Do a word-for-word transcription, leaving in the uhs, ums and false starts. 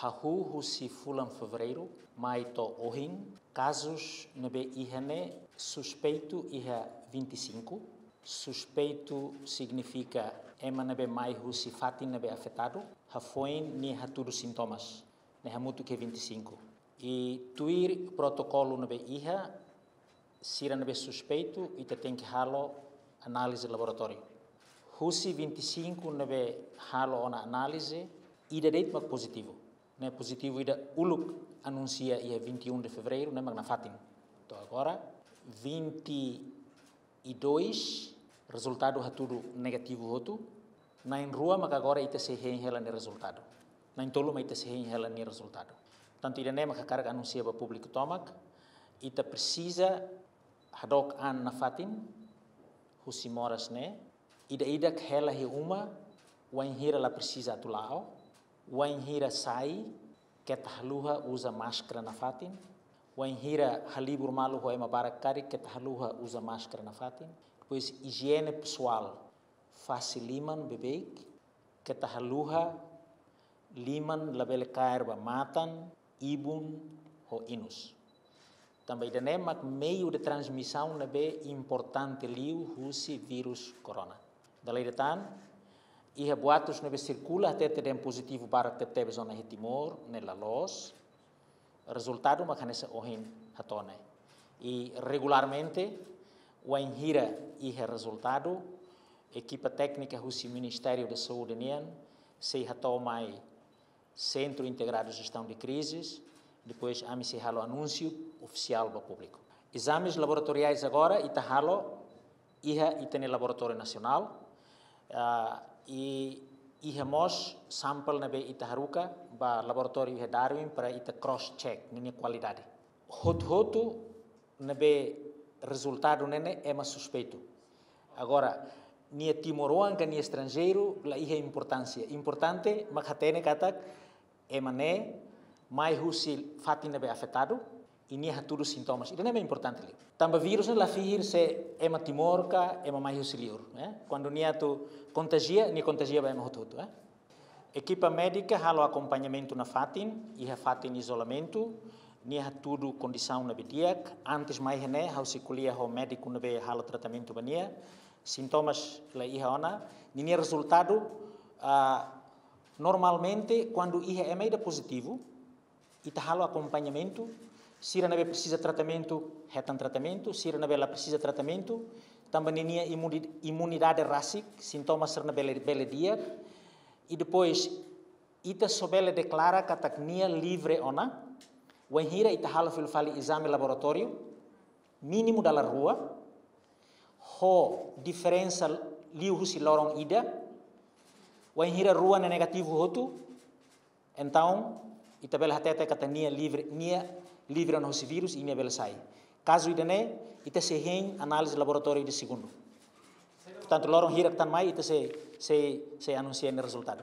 Hahú husi fulan Fevereiru mai to'o ohin, kazus ne'ebé iha ne'e suspeitu iha vinte e cinco. Suspeitu signifika ema ne'ebé mai husi fatin ne'ebé afetadu, hafoin nia hatudu sintomas, ne'e hamutuk iha vinte e cinco. I tuir protokolu ne'ebé iha, sira ne'ebé suspeitu, ita tenke halo análize laboratóriu. Husi vinte e cinco ne'ebé halo ona análize, ida de'it mak pozitivu. Ne'e pozitivu ida uluk anunsia iha vinte e um de Fevereiru, ne'e mak nafatin. To'o agora, vinte e dois, rezultadu hatudu negativu hotu, na'in rua mak agora ita sei hein hela nia rezultadu. Na'in tolu mak ita sei hein hela nia rezultadu. Tantu ida-ne'e mak hakarak anunsia ba públiku tomak, ita presiza hadook an nafatin husi moras ne'e, ida-idak hela iha uma, wainhira la presiza atu la'o, wainhira sai, keta haluha uza máskara nafatin, wainhira halibur malu ho ema barak karik, keta haluha uza máskara nafatin. Depois, ijiene pesoál, fase liman beibeik, keta haluha liman labele kaer ba matan, ibun ho inus. Tanba ida-ne'e mak meiu de transmisaun ne'ebé importante liu husi vírus corona. Dala ida tan, iha boatus ne'ebé sirkula hatete dehan pozitivu barak tebetebes ona iha Timor, ne'e la loos. Rezultadu mak hanesan ohin hato'o ne'e. I regularmente, wainhira iha rezultadu, ekipa téknika husi Ministériu da Saúde nian sei hato'o mai Sentru Integradu Jestaun de Krizis, depois ami sei halo anúnsiu ofisiál ba públiku. Ezames laboratoriais agora ita halo iha ita-nia laboratóriu nasionál, ah, i iha mós sampel ne'ebé ita haruka ba laboratóriu iha Darwin para ita cross check ninia kualidade. Hotu-hotu ne'ebé rezultadu ne'e ne'e ema suspeitu. Agora, nia timoroan ka nia estranjeiru, la iha importánsia. Importante mak hatene katak ema ne'e mai husi fatin ne'ebé afetadu, i nia hatudu sintomas. Ida-ne'e mak importante liu. Tanba vírus ne'e la fihir se ema Timor ka ema mai husi liur, eh? Kuandu nia atu kontajia, nia kontajia ba ema hotu-hotu, eh? Ekipa médika halo akompañamentu nafatin, iha fatin izolamentu, nia hatudu kondisaun ne'ebé di'ak, antes mai iha ne'e, ha'u sei ko'alia ho médiku ne'ebé halo tratamentu ba nia, sintomas la iha ona, ninia rezultadu, ah, normalmente, kuandu iha ema ida pozitivu, ita halo akompañamentu, sira ne'ebé presiza tratamentu, hetan tratamentu, sira ne'ebé la presiza tratamentu, tanba ninia imuni-, imunidade rasik, sintomas sira-ne'e bele, bele di'ak, i depois, ita só bele deklara katak nia livre ona, wainhira ita halo fila fali ezame laboratóriu, mínimu dala rua, ho diferensa liu husi loron ida, wainhira rua ne'e negativu hotu, entaun, ita bele hatete katak nia livre, nia livre ona husi vírus i nia bele sai. Kazu ida-ne'e, ita sei hein análize laboratóriu ida segundu. Portantu, loron hirak tan mai, ita sei, sei, sei anunsia nia rezultadu.